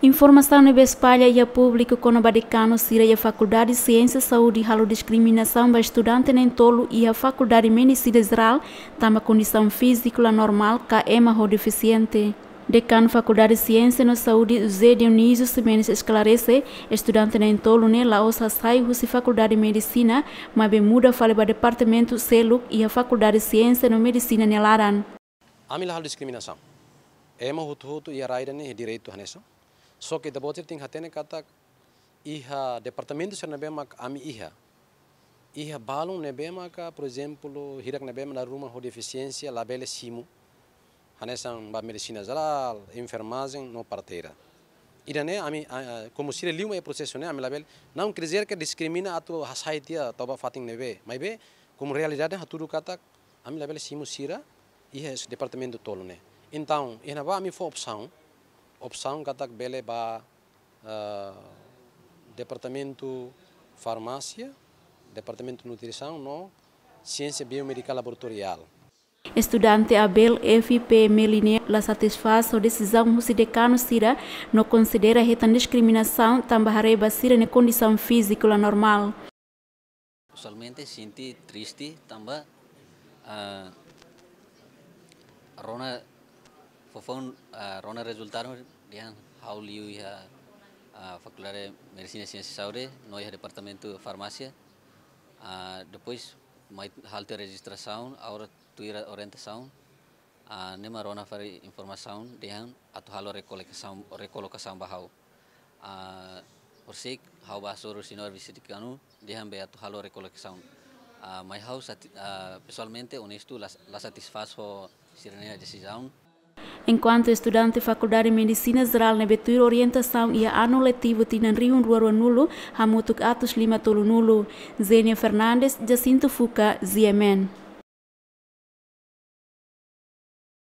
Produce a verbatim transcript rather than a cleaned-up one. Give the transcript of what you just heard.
Informasaun ne'ebé espalla iha públiku kona-ba dekanu sira iha Fakuldade Siénsia Saúde halo diskriminasaun ba estudante na'in-tolu iha Fakuldade Medisina Jerál tanba kondisaun fíziku la normál ka ema ho defisiente. Dekanu Fakuldade Siénsia no Saúde, José Dionísio Ximenes, esklarese, estudante na'in-tolu ne'e la'ós hasai husi Fakuldade Medisina, maibé muda fali ba departamentu seluk iha Fakuldade Siénsia no Medisina nia laran. Ami la halo diskriminasaun. Ema hotu-hotu iha rai ida-ne'e iha direitu hanesan. Só ke ita-boot sira tenke hatene katak iha departamentu sira ne'ebé mak ami iha, iha balun ne'ebé maka, por ezemplu, hirak ne'ebé mak dala ruma ho defisiénsia labele simu. Hanesan ba medisina jerál, enfermajen no parteira. Ida-ne'e ami, a, a, komu sira liu mai prosesu ne'e, ami labele, não quer dizer que diskrimina atu hasai tiha to'o ba fatin ne'ebé. Maibé, komu realidade hatudu katak ami labele simu sira iha departamentu tolu ne'e. Entaun, iha ne'ebá ami fó opsaun, opsaun katak bele ba, ah, departamentu farmásia, departamentu nutrisaun no siénsia biomedikál laboratoriál. Estudante Abel F P Meline la satisfás ho desizaun husi dekanu sira, no konsidera hetan diskriminasaun tanba haree ba sira-nia kondisaun fíziku la normál. Pesoalmente sente triste tanba, ah, rona foufoun, ah, rona rezultadu dehan ha'u liu iha, ah, Fakuldade Medisina Siénsia Saúde no iha departamentu farmásia. Ah, depois mai halo tiha rejistrasaun, agora tuir orientasaun, ah, ne'e mak rona fali informasaun dehan atu halo rekolokasaun, rekolokasaun ba ha'u. Ah, horisehik ha'u bá hasoru señór vise-dekanu, dehan be atu halo rekolokasaun. Ah, maibé ha'u sati-, ah, pesoalmente onestu la, la satisfás ho sira-nia desizaun. Enkuantu estudante Fakuldade Medisina Jerál ne'ebé tuir orientasaun iha anu letivu tinan rihun rua ruanulu, hamutuk atus lima tolunulu. Zenia Fernandes, Jacinto Fuca, G M N.